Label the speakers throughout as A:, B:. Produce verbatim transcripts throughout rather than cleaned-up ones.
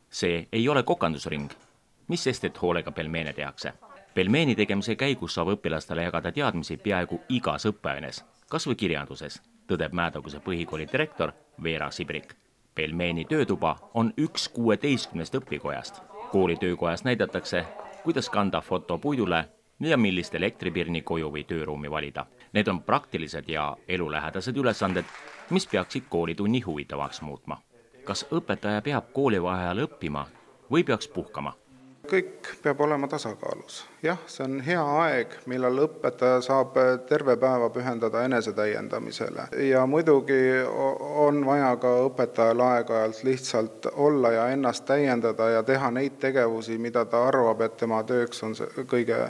A: See ei ole kokandusring, mis sest, et hoolega pelmeene tehakse. Pelmeeni tegemise käigus saab õpilastele jagada teadmisi peaaegu igas õppeaines, kas või kirjanduses, tõdeb Mäetaguse põhikooli direktor Veera Sibrik. Pelmeeni töötuba on üks kuueteistkümnest õpikojast. Kooli töökojas näidatakse, kuidas kanda foto puidule ja millist elektripirni koju või tööruumi valida. Need on praktilised ja elulähedased ülesanded, mis peaksid koolitunni huvitavaks muutma. Kas õpetaja peab koolivaheajal õppima või peaks puhkama?
B: Kõik peab olema tasakaalus. Jah, see on hea aeg, millal õpetaja saab terve päeva pühendada enesetäiendamisele. Ja muidugi on vaja ka õpetajal aeg-ajalt lihtsalt olla ja ennast täiendada ja teha neid tegevusi, mida ta arvab, et tema tööks on see kõige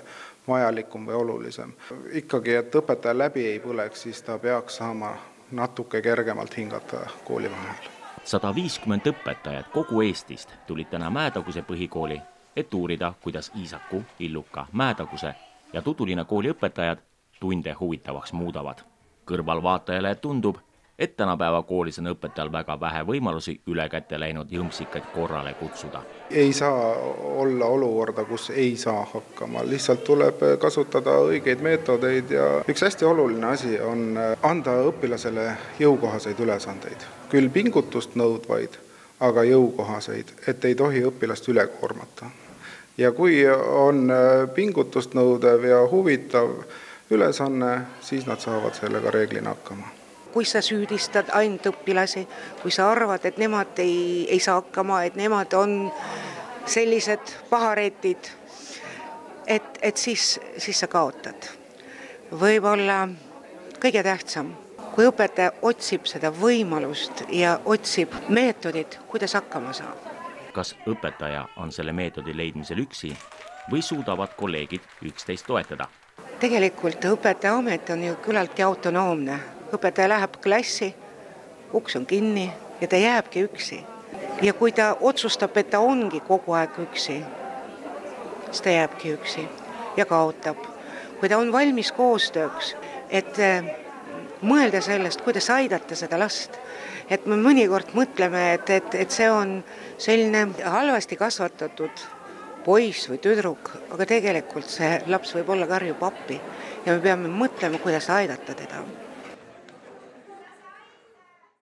B: vajalikum või olulisem. Ikkagi, et õpetaja läbi ei põleks, siis ta peaks saama natuke kergemalt hingata kooli vahel.
A: sada viiskümmend õpetajad kogu Eestist tulid täna Mäetaguse põhikooli, et uurida, kuidas Iisaku, Illuka, Mäetaguse ja Tudulina kooli õpetajad tunde huvitavaks muudavad. Kõrvalvaatajale tundub, et tänapäeva koolis on õpetajal väga vähe võimalusi üle kätte läinud jõmsikaid korrale kutsuda.
B: Ei saa olla olukorda, kus ei saa hakkama. Lihtsalt tuleb kasutada õigeid meetodeid ja üks hästi oluline asi on anda õpilasele jõukohaseid ülesandeid. Küll pingutust nõudvaid, aga jõukohaseid, et ei tohi õpilast üle koormata. Ja kui on pingutust nõudev ja huvitav ülesanne, siis nad saavad sellega reeglina hakkama.
C: Kui sa süüdistad ainult õpilasi, kui sa arvad, et nemad ei, ei saa hakkama, et nemad on sellised paharetid, et, et siis, siis sa kaotad. Võib-olla kõige tähtsam, kui õpetaja otsib seda võimalust ja otsib meetodit, kuidas hakkama saab.
A: Kas õpetaja on selle meetodi leidmisel üksi või suudavad kolleegid üksteist toetada?
C: Tegelikult õpetaja amet on ju küllaltki autonoomne. Õpetaja läheb klassi, uks on kinni ja ta jääbki üksi. Ja kui ta otsustab, et ta ongi kogu aeg üksi, siis ta jääbki üksi ja kaotab. Kui ta on valmis koostööks, et mõelda sellest, kuidas aidata seda last, et me mõnikord mõtleme, et, et, et see on selline halvasti kasvatatud poiss või tüdruk, aga tegelikult see laps võib olla karjub appi ja me peame mõtlema, kuidas aidata teda.